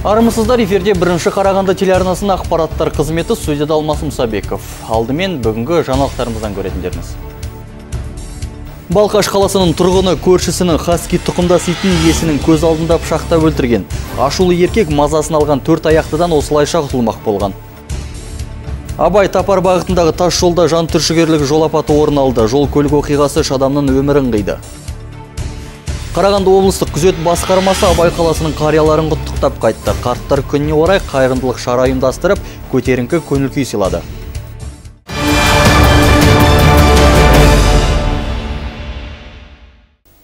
Армысыздар, эфирде бірінші Қарағанды телеарнасының ақпараттар қызметі, студияда Алмас Мұсабеков. Алдымен бүгінгі жаңалықтарымыздан көретіндеріңіз. Балқаш қаласының тұрғыны көршісінің хаски тұқымдас итін иесінің көз алдында пышақтап өлтірген. Ашулы еркек мазасын алған 4 аяқтыдан осылайша құтылмақ болған. Абай Тапар бағытындағы тас жолда жан түршігерлік жол апаты орын алды. Жол көлік оқиғасы үш адамның өмірін қиды. Қарағанды облыстық күзет басқармасы Абай қаласының қарияларын құттықтап қайтты. Қарттар күніне орай қайырымдылық шара ұйымдастырып, көтеріңкі көңіл күй сыйлады.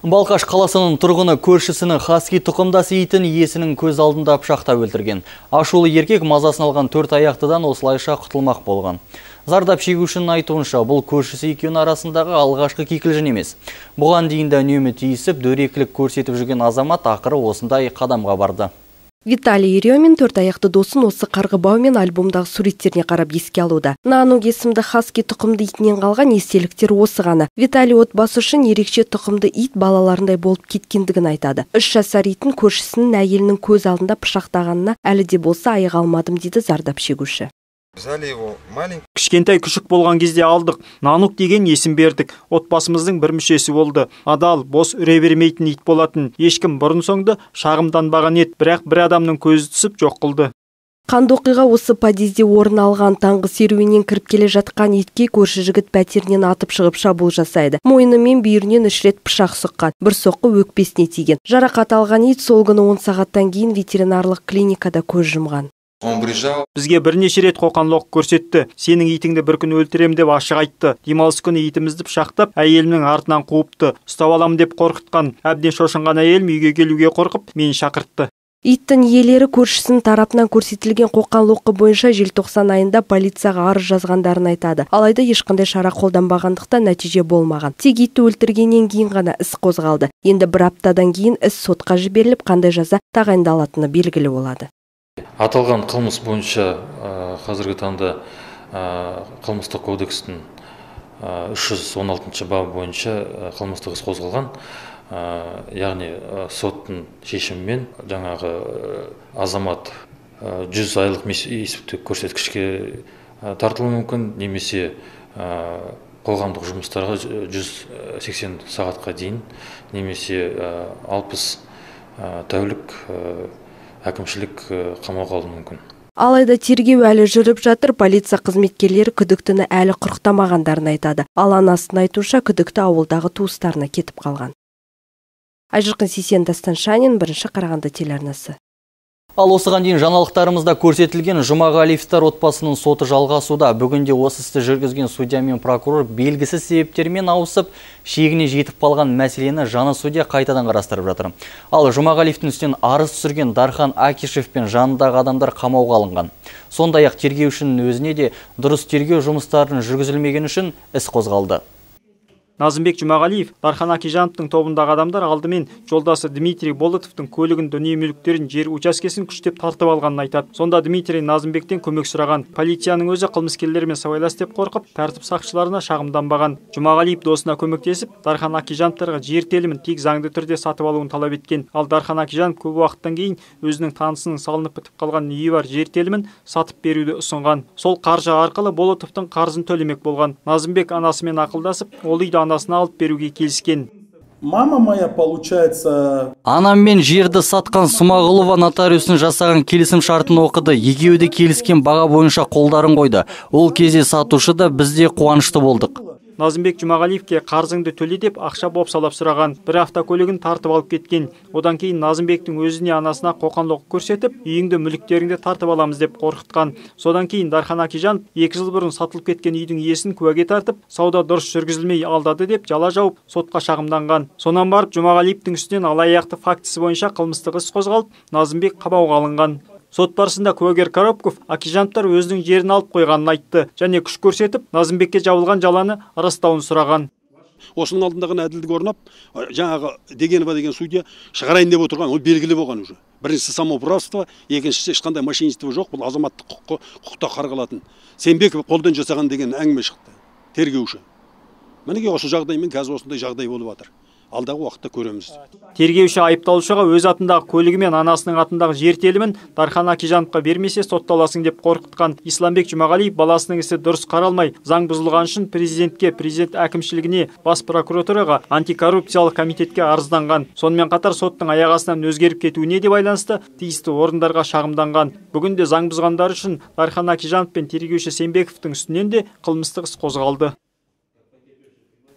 Балқаш қаласының тұрғыны көршісінің хаски тұқымдас итін иесінің көз алдында пышақтап өлтірген. Ашулы еркек мазасын алған 4 аяқтыдан осылайша құтылмақ болған. Зардап шегушінің айтуынша, бұл көршісі екеуінің арасындағы алғашқы кикілжің емес. Бұған дейін де үнемі тиісіп, дөрекілік көрсетіп жүрген азамат ақыры осындай қадамға барды. Виталий Еремин 4 аяқты досын осы қарғыбау мен альбомдағы суреттеріне қарап еске алуда. Нанук есімді хаски тұқымды итінен қалған естеліктер осы ғана. Виталий отбасы үшін ерекше тұқымды ит балаларындай болып кеткендігін айтады. 3 жасар итін көршісінің әйелінің көз алдында пышақтағанына әлі де болса аяқ алмадым дейді зардап шегуші. Кішкентай күшік болған кезде алдық. Нанук деген есім бердік. Отбасымыздың бір мүшесі болды. Адал, бос үре бермейтін ит болатын. Ешкім бұрын соңды шағымданбаған ет, бірақ бір адамның көзі түсіп жоқ қылды. Қанды оқиға осы подъезде орын алған. Таңғы серуеннен кіріп келе жатқан итке көрші жігіт пәтерінен атып шығып шабуыл жасайды. Мойны мен бүйірінен 3 рет пышақ сұққан. Бір соққы өкпесіне тиген. Жарақат алған ит сол күні 10 сағаттан кейін ветеринарлық клиникада көз жұмған. Бізге бірнеше рет қоқан-лоқ көрсетті. Сенің итіңді бір күн өлтірем деп ашық айтты. Демалыс күні итімізді пышақтап, әйелімнің артынан қуыпты. Ұстап алам деп қорқытқан. Әбден шошынған әйелім үйге келуге қорқып, мені шақыртты. Иттің иелері көршісінің тарапынан көрсетілген қоқан-лоққы бойынша желтоқсан айында полицияға арыз жазғандарын айтады. Алайда ешқандай шара қолданбағандықтан нәтиже болмаған. Тек итті өлтіргеннен кейін ғана іс қозғалды. Енді бір аптадан кейін іс сотқа жіберіліп, қандай жаза тағайындалатыны белгілі болады. Аталған қылмыс бойынша қазіргі таңда қылмыстық кодекстің 316 бабы бойынша қылмыстық іс қозғалған. Яғни соттың шешімімен жаңағы азамат 100 айлық есептік көрсеткішке тартылуы мүмкін, немесе қоғамдық жұмыстарға 180 сағатқа дейін, немесе 60 тәулік әкімшілік қамауға алуы мүмкін. Алайда тергеу әлі жүріп жатыр. Полиция қызметкерлері күдіктіні әлі құрықтамағандарын айтады. Ал анасының айтуынша күдікті ауылдағы туыстарына кетіп қалған. Айжырқын Сейсен, Дастан Шанин, бірінші Қарағанды телеарнасы. Ал осыған дейін жаңалықтарымызда көрсетілген Жұмағалиевтер отбасының соты жалғасуда. Бүгінде осы істі жүргізген судья мен прокурор белгісіз себептермен ауысып, шегіне жетіп қалған мәселені жаңа судья қайтадан қарастырып жатыр. Ал Жұмағалиевтің үстінен арыз түсірген Дархан Акишев пен жанындағы адамдар қамауға алынған. Сондай-ақ тергеушінің өзіне де дұрыс тергеу жұмыстарын жүргізілмеген үшін іс қозғалды. Назымбек Жұмағалиев, Дархан Акижановтың тобындағы адамдар алдымен жолдасы Дмитрий Болотовтың көлігін, дүние мүліктерін, жер учаскесін күштеп тартып алғанын айтады. Сонда Дмитрий Назымбектен көмек сұраған. Полицияның өзі қылмыскерлермен сыбайлас деп қорқып, тәртіп сақшыларына шағымданбаған. Жұмағалиев досына көмектесіп, Дархан Акижановтарға жер телімін тек заңды түрде сатып алуын талап еткен. Ал Дархан Акижанов көп уақыттан кейін өзінің танысының салынып бітіп қалған үйі бар жер телімін сатып беруді ұсынған. Сол қаржы арқылы Болотовтың қарызын төлемек болған. Назымбек анасымен ақылдасып, ол үйді анасына алып беруге келіскен. Мама моя, получается... Анаммен жерді сатқан Смағұлова нотариусын жасаған келісім шартын оқыды. Екеуі де келіскен баға бойынша қолдарын қойды. Ол кезде сатушы да біз де қуанышты болдық. Назымбек Жұмағалиевке қарзыңды төле деп ақша бопсалап сұраған. Бір автокөлігін тартып алып кеткен. Одан кейін Назымбектің өзіне анасына қоқан-лоқ көрсетіп, үйіңді, мүліктеріңді тартып аламыз деп қорқытқан. Содан кейін Дархан Акижанов 2 жыл бұрын сатылып кеткен үйдің иесін куәге тартып, сауда дұрыс жүргізілмей алдады деп жала жауып, сотқа шағымданған. Сонан барып Жұмағалиевтің үстінен алаяқтық фактісі бойынша қылмыстық іс қозғалып, Назымбек қамауға алынған. Сот барысында куәгер Коробков Акижановтар өзінің жерін алып қойғанын айтты және күш көрсетіп, Назымбекке жабылған жаланы растауын сұраған. Осының алдындағы әділдік орнап, жаңағы Дегенова деген судья шығарайын деп отырған, ол белгілі болған уже. Біріншісі самоуправство, екіншісі ешқандай мошенничество жоқ, бұл азаматтық құқықта қарғалатын. Сенбеков қолдан жасаған деген әңгіме шықты. Тергеуші. Мінеге осы жағдаймен қазір осындай жағдай болып жатыр. алдағы уақытта көреміз. Тергеуші айыпталушыға өз атындағы көлігі мен анасының атындағы жер телімін Дархан Акижановқа бермесе сотталасың деп қорқытқан Исламбек Жұмағалиев баласының ісі дұрыс қаралмай, заң бұзылған үшін президентке, президент әкімшілігіне, бас прокуратураға, антикоррупциялық комитетке арызданған. Сонымен қатар соттың аяқ астынан өзгеріп кетуіне де байланысты тиісті орындарға шағымданған. Бүгінде заң бұзғандар үшін Дархан Акижанов пен тергеуші Сембековтың үстінен де қылмыстық іс қозғалды.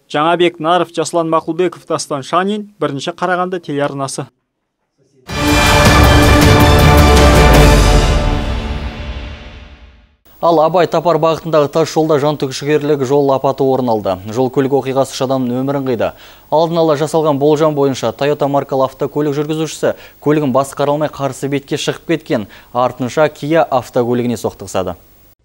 Жаңабек Наров, Жаслан Мақұлбеков, Дастан Шанин, бірінші Қарағанды телеарнасы. Ал Абай Тапар бағытындағы тас жолда жан түршігерлік жол апаты орын алды. Жол көлік оқиғасы үш адамның өмірін қиды. Алдын ала жасалған болжам бойынша Toyota маркалы автокөлік жүргізушісі көлігін басқара алмай қарсы бетке шығып кеткен. Артынша Kia автокөлігіне соқтығысады.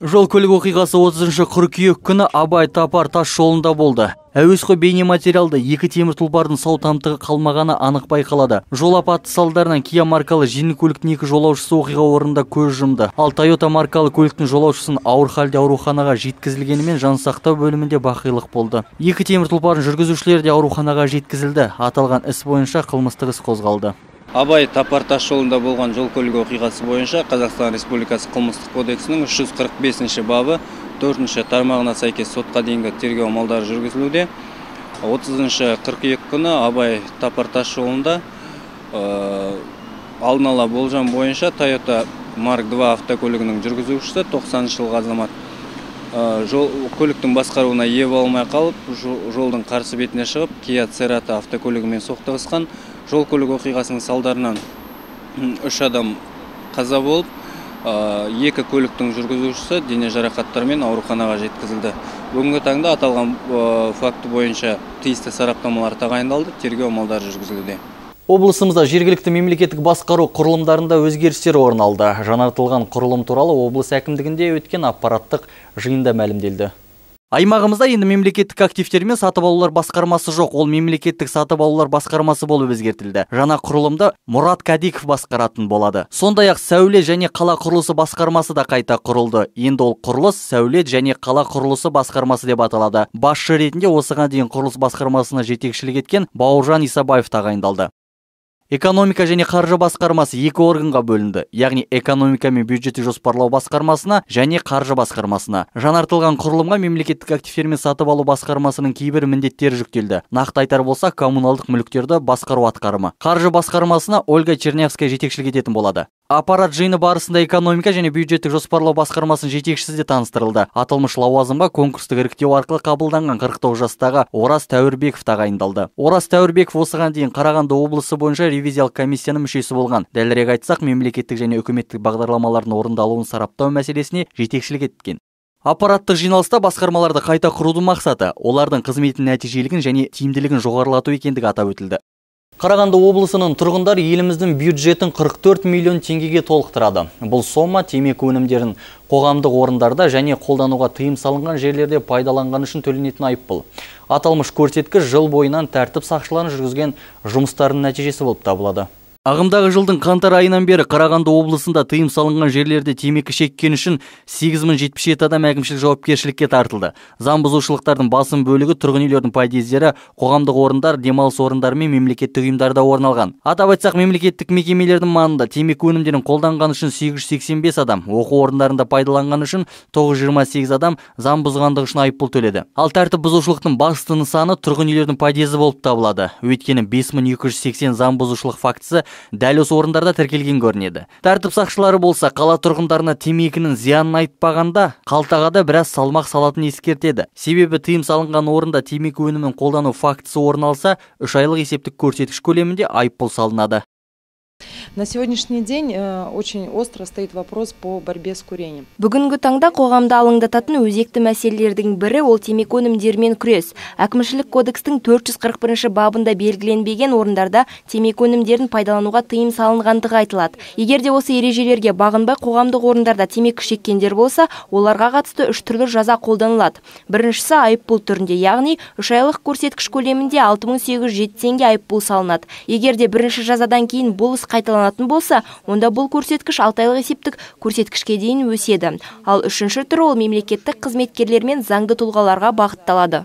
Жол көлік оқиғасы 30 қыркүйек күні Абай Тапар тас жолында болды. Әуесқой бейнематериалда екі темір тұлпардың сау тамтығы қалмағаны анық байқалады. Жол апаты салдарынан Kia маркалы жеңіл көліктің екі жолаушысы оқиға орнында көз жұмды. Ал Toyota маркалы көліктің жолаушысын ауыр халде ауруханаға жеткізілгенімен жансақтау бөлімінде бақилық болды. Екі темір тұлпардың жүргізушілері де ауруханаға жеткізілді. Аталған іс бойынша қылмыстық іс қозғалды. Абай Тапар тас жолында болған жол көлік оқиғасы бойынша Қазақстан Республикасы қылмыстық кодексінің 345 бабы 4 тармағына сәйкес сотқа дейінгі тергеу амалдары жүргізілуде. 30 қыркүйек күні Абай Тапар тас жолында алдын ала болжам бойынша Toyota Mark II автокөлігінің жүргізушісі 90 жылғы азамат көліктің басқаруына ие болмай қалып, жолдың қарсы бетіне шығып, Kia Cerato автокөлігімен соқтығысқан. Жол көлік оқиғасының салдарынан 3 адам қаза болып, 2 көліктің жүргізушісі дене жарақаттарымен ауруханаға жеткізілді. Бүгінгі таңда аталған факті бойынша тиісті сараптамалар тағайындалды, тергеу амалдары жүргізілуде. Облысымызда жергілікті мемлекеттік басқару құрылымдарында өзгерістер орын алды. Жаңартылған құрылым туралы облыс әкімдігінде өткен аппараттық жиында мәлімделді. Аймағымызда енді мемлекеттік активтер мен сатып алулар басқармасы жоқ, ол мемлекеттік сатып алулар басқармасы болып өзгертілді. Жаңа құрылымда Мұрат Кадиков басқаратын болады. Сондай-ақ сәулет және қала құрылысы басқармасы да қайта құрылды. Енді ол құрылыс, сәулет және қала құрылысы басқармасы деп аталады. Басшы ретінде осыған дейін құрылыс басқармасына жетекшілік еткен Бауыржан Исабаев тағайындалды. Экономика және қаржы басқармасы екі органға бөлінді, яғни экономика мен бюджетті жоспарлау басқармасына және қаржы басқармасына. Жаңартылған құрылымға мемлекеттік активтер мен сатып алу басқармасының кейбір міндеттері жүктелді. Нақты айтар болсақ, коммуналдық мүліктерді басқару атқарымы. Қаржы басқармасына Ольга Чернявская жетекшілік ететін болады. Аппарат жиыны барысында экономика және бюджеттік жоспарлау басқармасының жетекшісі де таныстырылды. Аталмыш лауазымға конкурстық іріктеу арқылы қабылданған 49 жастағы Ораз Тәуірбеков тағайындалды. Ораз Тәуірбеков осыған дейін Қарағанды облысы бойынша ревизиялық комиссияның мүшесі болған. Дәлірек айтсақ, мемлекеттік және үкіметтік бағдарламалардың орындалуын сараптау мәселесіне жетекшілік еткен. Аппараттық жиналыста басқармаларды қайта құрудың мақсаты олардың қызметінің нәтижелігін және тиімділігін жоғарылату екендігі атап өтілді. Қарағанды облысының тұрғындары еліміздің бюджетін 44 миллион теңгеге толықтырады. Бұл сома темекі өнімдерін қоғамдық орындарда және қолдануға тыйым салынған жерлерде пайдаланған үшін төленетін айыппұл. Аталмыш көрсеткіш жыл бойынан тәртіп сақшыларын жүргізген жұмыстарының нәтижесі болып табылады. Ағымдағы жылдың қаңтар айынан бері Қарағанды облысында тыйым салынған жерлерде темекі шеккен үшін 8077 адам әкімшілік жауапкершілікке тартылды. Заң бұзушылықтардың басым бөлігі тұрғын үйлердің подъездері, қоғамдық орындар, демалыс орындары мен мемлекеттік ұйымдарда орын алған. Атап айтсақ, мемлекеттік мекемелердің маңында темекі өнімдерін қолданған үшін 885 адам, оқу орындарында пайдаланған үшін 928 адам заң бұзғандығы үшін айыппұл төледі. Ал тәртіп бұзушылықтың басты нысаны тұрғын үйлердің подъезі болып табылады. Өйткені 5280 заң бұзушылық фактісі дәл осы орындарда тіркелген көрінеді. Тәртіп сақшылары болса, қала тұрғындарына темекінің зиянын айтпағанда, қалтаға да біраз салмақ салатын ескертеді. Себебі тыйым салынған орында темекі өнімін қолдану фактісі орын алса, 3 айлық есептік көрсеткіш көлемінде айыппұл салынады. На сегодняшний день очень остро стоит вопрос по борьбе с курением. Бүгінгі таңда қоғамда алаңдататын өзекті мәселелердің бірі ол темекі өнімдерімен күрес. Әкімшілік кодекстің 441 бабында белгіленбеген орындарда темекі өнімдерін пайдалануға тыйым салынғандығы айтылады. Егер де осы ережелерге бағынбай қоғамдық орындарда темекі шеккендер болса, оларға қатысты 3 түрлі жаза қолданылады. Біріншісі айыппұл түрінде, яғни 3 айлық көрсеткіш көлемінде 6807 теңге айыппұл салынады. Егер де бірінші жазадан кейін бұл іс қайталанатын болса, онда бұл көрсеткіш 6 айлық есептік көрсеткішке дейін өседі. Ал үшінші түрі ол мемлекеттік қызметкерлер мен заңды тұлғаларға бағытталады.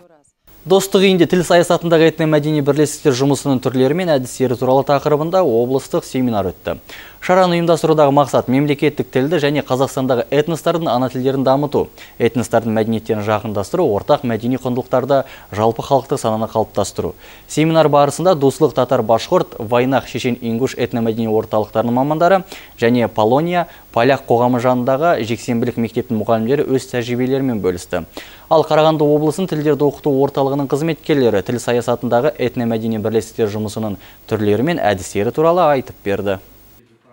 Достық үйінде тіл саясатындағы этномәдени бірлестіктер жұмысының түрлері мен әдістері туралы тақырыбында облыстық семинар өтті. Шараны ұйымдастырудағы мақсат мемлекеттік тілді және Қазақстандағы этностардың ана тілдерін дамыту, этностардың мәдениеттерін жақындастыру, ортақ мәдени құндылықтарды жалпы халықтық сананы қалыптастыру. Семинар барысында Дуслық татар башқұрт, Вайнақ шешен ингуш этномәдени орталықтарының мамандары және Полония поляк қоғамы жанындағы жексенбілік мектептің мұғалімдері өз тәжірибелерімен бөлісті. Ал Қарағанды облысының тілдерді оқыту орталығының қызметкерлері тіл саясатындағы этномәдени бірлестіктер жұмысының түрлері мен әдістері туралы айтып берді.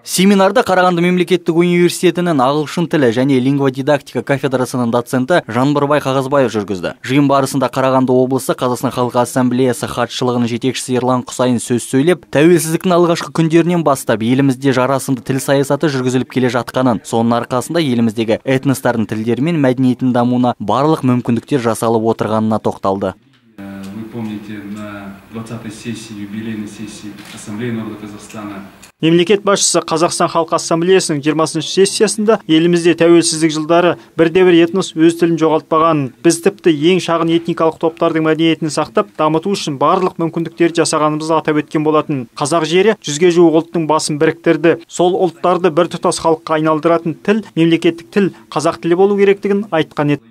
Семинарда Қарағанды мемлекеттік университетінің ағылшын тілі және лингводидактика кафедрасының доценті Жанбырбай Қағазбаев жүргізді. Жиын барысында Қарағанды облысы Қазақстан Халқы Ассамблеясы хатшылығының жетекшісі Ерлан Құсайын сөз сөйлеп, тәуелсіздіктің алғашқы күндерінен бастап елімізде жарасымды тіл саясаты жүргізіліп келе жатқанын, соның арқасында еліміздегі этностардың тілдері мен мәдениетінің дамуына барлық мүмкіндіктер жасалып отырғанына тоқталды. Вы помните, на 20-й сессии, юбилейной сессии Ассамблеи народа Казахстана Мемлекет басшысы Қазақстан Халқы Ассамблеясының 20-шы сессиясында елімізде тәуелсіздік жылдары бірде-бір этнос өз тілін жоғалтпағанын, біз тіпті ең шағын этникалық топтардың мәдениетін сақтап, дамыту үшін барлық мүмкіндіктерді жасағанымызды атап өткен болатын. Қазақ жері 100-ге жуық ұлттың басын біріктірді. Сол ұлттарды бір тұтас халыққа айналдыратын тіл, мемлекеттік тіл, қазақ тілі болу керектігін айтқан еді.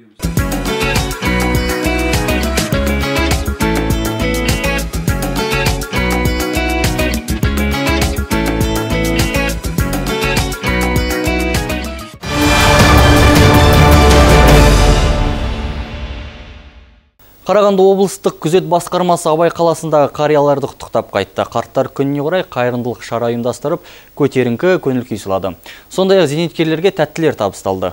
Қарағанды облыстық күзет басқармасы Абай қаласындағы қарияларды құттықтап қайтты. Қарттар күніне орай қайырымдылық шара ұйымдастырып, көтеріңкі көңіл күй сыйлады. Сондай-ақ зейнеткерлерге тәттілер табысталды.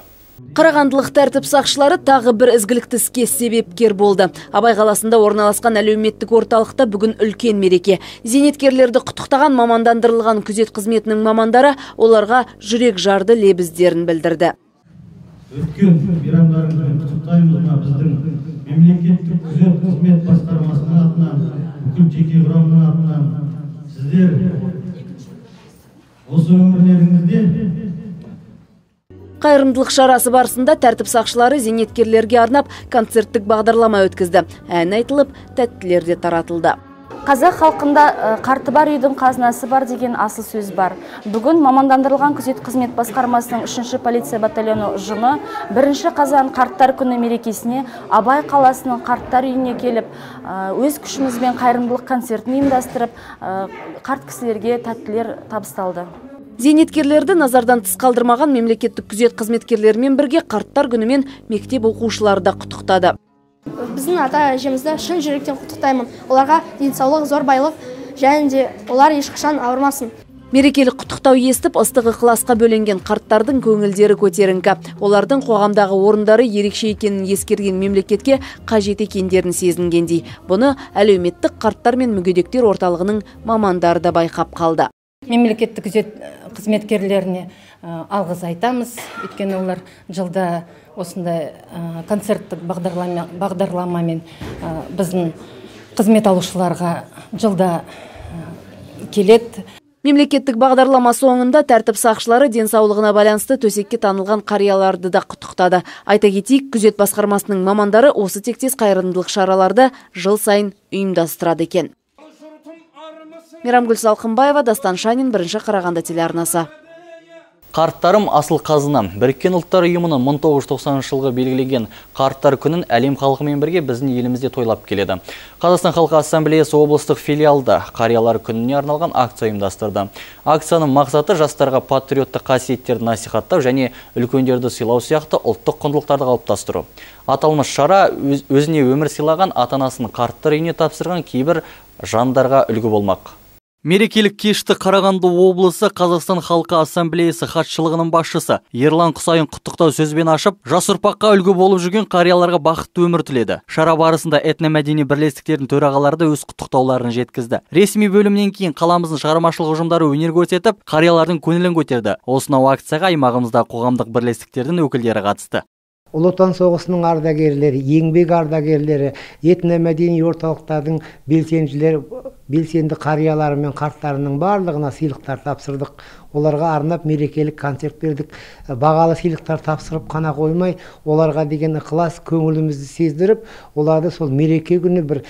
Қарағандылық тәртіп сақшылары тағы бір ізгілікті іске себепкер болды. Абай қаласында орналасқан әлеуметтік орталықта бүгін үлкен мереке. Зейнеткерлерді құттықтаған мамандандырылған күзет қызметінің мамандары оларға жүрек жарды лебіздерін білдірді. Өткен мейрамдарыңызбен құттықтаймыз біздің мемлекеттік күзет қызмет басқармасының атынан, бүкіл жеке құрамның атынан. Сіздер осы өмірлеріңізде Қайырымдылық шарасы барысында тәртіп сақшылары зейнеткерлерге арнап концерттік бағдарлама өткізді. Ән айтылып, тәттілер де таратылды. Қазақ халқында қарты бар үйдің қазынасы бар деген асыл сөз бар. Бүгін мамандандырылған күзет қызмет басқармасының 3-ші полиция батальоны ұжымы 1 қазан қарттар күні мерекесіне Абай қаласының қарттар үйіне келіп, өз күшімізбен қайырымдылық концертін ұйымдастырып, қарт кісілерге тәттілер табысталды. Зейнеткерлерді назардан тыс қалдырмаған мемлекеттік күзет қызметкерлерімен бірге қарттар күнімен мектеп оқушылары да құттықтады. Біздің ата-әжемізді шын жүректен құттықтаймын. Оларға денсаулық, зор байлық және де олар ешқашан ауырмасын. Мерекелік құттықтау естіп, ыстық ықыласқа бөленген қарттардың көңілдері көтеріңкі. Олардың қоғамдағы орындары ерекше екенін ескерген мемлекетке қажет екендерін сезінгендей. Бұны әлеуметтік қарттар мен мүгедектер орталығының мамандары да байқап қалды. Мемлекеттік күзет қызметкерлеріне алғыс айтамыз. Өйткені олар жылда осындай концерттік бағдарламамен біздің қызмет алушыларға жылда келеді. Мемлекеттік бағдарлама соңында тәртіп сақшылары денсаулығына байланысты төсекке танылған қарияларды да құттықтады. Айта кетейік, күзет басқармасының мамандары осы тектес қайырымдылық шараларды жыл сайын ұйымдастырады екен. Мейрамгүл Салқынбаева, Дастан Шанин, 1 Қарағанды телеарнасы. Қарттарым асыл қазына. Біріккен ұлттар ұйымының 1990 жылғы белгілеген қарттар күнін әлем халқымен бірге біздің елімізде тойлап келеді. Қазақстан Халқы Ассамблеясы облыстық филиалда қариялар күніне арналған акция ұйымдастырды. Акцияның мақсаты жастарға патриоттық қасиеттерді насихаттау және үлкендерді сыйлау сияқты ұлттық құндылықтарды қалыптастыру. Аталмыш шара өзіне өмір сыйлаған ата-анасын қарттар үйіне тапсырған кейбір жандарға үлгі болмақ. Мерекелік кешті Қарағанды облысы Қазақстан Халқы Ассамблеясы хатшылығының басшысы Ерлан Құсайын құттықтау сөзбен ашып, жас ұрпаққа үлгі болып жүрген қарияларға бақытты өмір тіледі. Шара барысында этномәдени бірлестіктердің төрағалары да өз құттықтауларын жеткізді. Ресми бөлімнен кейін қаламыздың шығармашылық ұжымдары өнер көрсетіп, қариялардың көңілін көтерді. Осынау акцияға аймағымызда қоғамдық бірлестіктердің өкілдері қатысты. Ұлы Отан соғысының ардагерлері, еңбек ардагерлері, этномәдени орталықтардың белсенділері белсенді қариялары мен қарттарының барлығына сыйлықтар тапсырдық. Оларға арнап мерекелік концерт бердік. Бағалы сыйлықтар тапсырып қана қоймай, оларға деген ықылас көңілімізді сездіріп, оларды сол мереке күні бір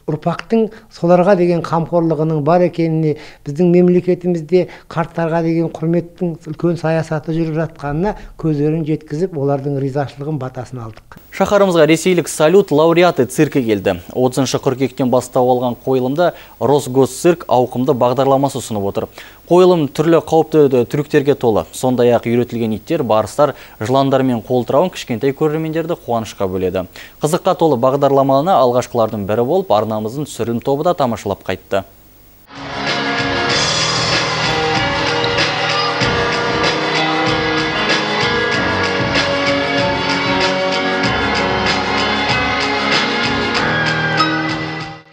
ұрпақтың соларға деген қамқорлығының бар екеніне, біздің мемлекетімізде қарттарға деген құрметтің үлкен саясаты жүріп жатқанына көздерін жеткізіп, олардың ризашылығын батасын алдық. Шаһарымызға ресейлік салют лауреаты циркі келді. 30 қыркүйектен бастау алған қойылымда Росгосцирк ауқымды бағдарламасы ұсынып отыр. Қойылым түрлі қауіпті трюктерге толы. Сондай-ақ үйретілген иттер, барыстар, жыландар мен қолтырауын кішкентай көрермендерді қуанышқа бөледі. Қызыққа толы бағдарламаны алғашқылардың бірі болып, арнамыздың түсірілім тобы да тамашалап қайтты.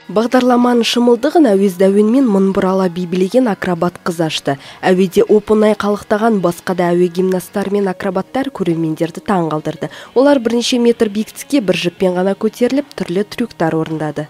Бағдарламаның шымылдығын әуезді әуенмен мыңбұрала билеген акробат қыз ашты. Әуеде оп-оңай қалықтаған басқа да әуе гимнасттар мен акробаттар көрермендерді таң қалдырды. Олар бірнеше метр биіктікке бір жіппен ғана көтеріліп, түрлі трюктар орындады.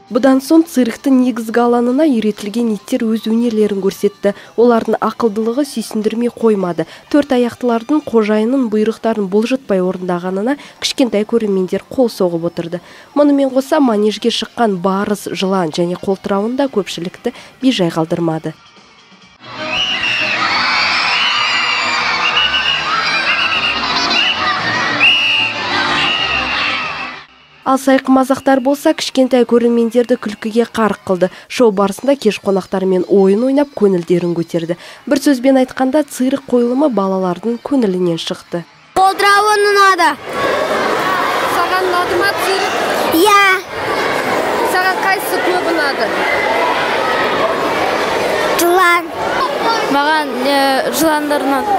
Бұдан соң цирктің негізгі алаңына үйретілген иттер өз өнерлерін көрсетті. Олардың ақылдылығы сүйсіндірмей қоймады. 4 аяқтылардың қожайынның бұйрықтарын бұлжытпай орындағанына кішкентай көрермендер қол соғып отырды. Мұнымен қоса манежге шыққан барыс, жылан және қолтырауында көпшілікті бейжай қалдырмады. Ал сайқы мазақтар болса, кішкентай көрермендерді күлкіге қарық қылды. Шоу барысында кеш қонақтарымен ойын ойнап, көңілдерін көтерді. Бір сөзбен айтқанда, цирк қойылымы балалардың көңілінен шықты. Қолтырауын ұнады. Саған ұнады ма цирк? Иә. Саған қайсысы көп ұнады? Жылан. Маған жыландар ұнады.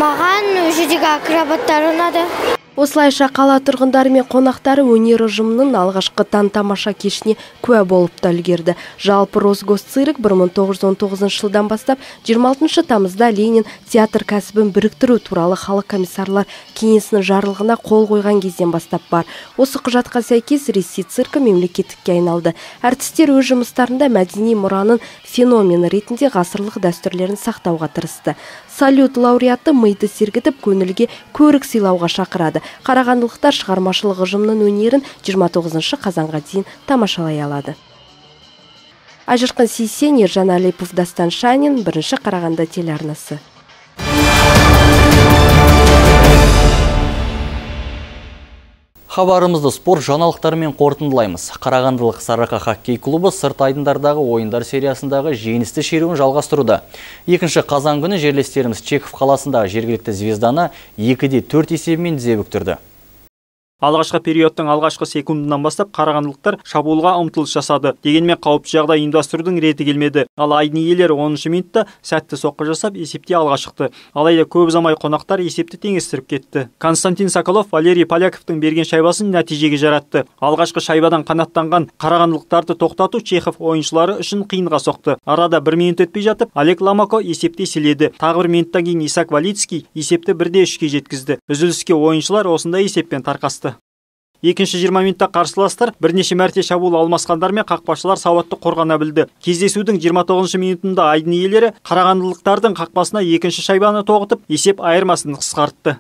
Маған жүзеге акробаттар ұнады. Осылайша қала тұрғындары мен қонақтары өнер ұжымының алғашқы таң-тамаша кешіне куә болып та үлгерді. Жалпы Росгосцирк 1919 жылдан бастап 26 тамызда Ленин театр кәсібін біріктіру туралы халық комиссарлар кеңесінің жарлығына қол қойған кезден бастап бар. Осы құжатқа сәйкес Ресей циркі мемлекеттікке айналды. Әртістер өз жұмыстарында мәдени мұраның феномені ретінде ғасырлық дәстүрлерін сақтауға тырысты. Салют лауреаты миды сергітіп, көңілге көрік сыйлауға шақырады. Қарағандылықтар шығармашылық ұжымның өнерін 29 қазанға дейін тамашалай алады. Ажырқын Сейсен, Ержан Алипов, Дастан Шанин, 1 Қарағанды телеарнасы. Хабарымызды спорт жаңалықтарымен қорытындылаймыз. Қарағандылық Сарыарқа хоккей клубы сырт айдындардағы ойындар сериясындағы жеңісті шеруін жалғастыруда. 2 қазан күні жерлестеріміз Чехов қаласындағы жергілікті Звезданы 2-4 есебімен тізе бүктірді. Алғашқы периодтың алғашқы секундынан бастап қарағандылықтар шабуылға ұмтылыс жасады. Дегенмен қауіпті жағдай ұйымдастырудың реті келмеді. Ал айдын иелері 10-шы минутта сәтті соққы жасап есепте алға шықты. Алайда көп ұзамай қонақтар есепті теңестіріп кетті. Константин Соколов Валерий Поляковтың берген шайбасын нәтижеге жаратты. Алғашқы шайбадан қанаттанған қарағандылықтарды тоқтату Чехов ойыншылары үшін қиынға соқты. Арада 1 минут өтпей жатып, Олег Ломако есепте еселеді. Тағы 1 минуттан кейін Исаак Валицкий есепті 1-3-ге жеткізді. Үзіліске ойыншылар осындай есеппен тарқасты. Екінші 20 минутта қарсыластар бірнеше мәрте шабуыл алмасқандар мен қақпашылар сауатты қорғана білді. Кездесудің 29 минутында айдын иелері қарағандылықтардың қақпасына екінші шайбаны тоғытып, есеп айырмасын қысқартты.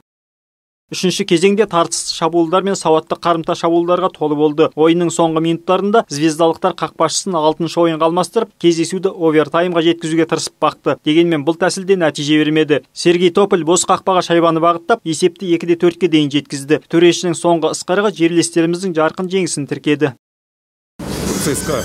Үшінші кезеңде тартысты шабуылдар мен сауатты қарымта шабуылдарға толы болды. Ойынның соңғы минуттарында звездалықтар қақпашысын 6-шы ойынға алмастырып, кездесуді овертаймға жеткізуге тырысып бақты. Дегенмен бұл тәсілде нәтиже бермеді. Сергей Тополь бос қақпаға шайбаны бағыттап, есепті 2-4-ге дейін жеткізді. Төрешінің соңғы ысқырығы жерлестеріміздің жарқын жеңісін тіркеді. ЦСКА,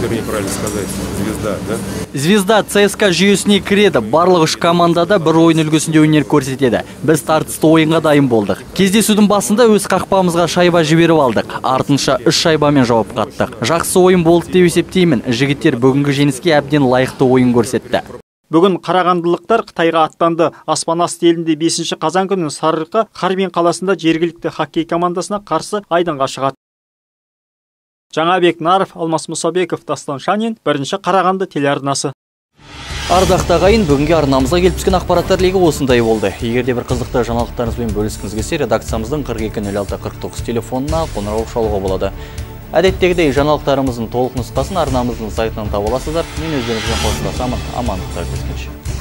вернее, правильно сказать, Звезда, да? Звезда ЦСКА жүйесіне кіреді. Барлық 3 командада бір ойын үлгісінде өнер көрсетеді. Біз тартысты ойынға дайын болдық. Кездесудің басында өз қақпамызға шайба жіберіп алдық. Артынша 3 шайбамен жауап қаттық. Жақсы ойын болды деп есептеймін. Жігіттер бүгінгі жеңіске әбден лайықты ойын көрсетті. Бүгін қарағандылықтар Қытайға аттанды. Аспанасты елінде 5 қазан күні Сарыарқа Харбин қаласында жергілікті хоккей командасына қарсы айдынға шығады. Жаңабек Наров, Алмас Мұсабеков, Дастан Шанин, 1 Қарағанды телеарнасы. Ардақты ағайын, бүгінгі арнамызға келіп түскен ақпараттар легі осындай болды. Егерде бір қызықты жаңалықтарыңызбен бөліскіңіз келсе, редакциямыздың 42-06-49 телефонына қоңырау шалуға болады. Әдеттегідей жаңалықтарымыздың толық нұсқасын арнамыздың сайтынан таба аласыздар. Мен өздеріңізбен қоштасамын. Амандықта кездескенше.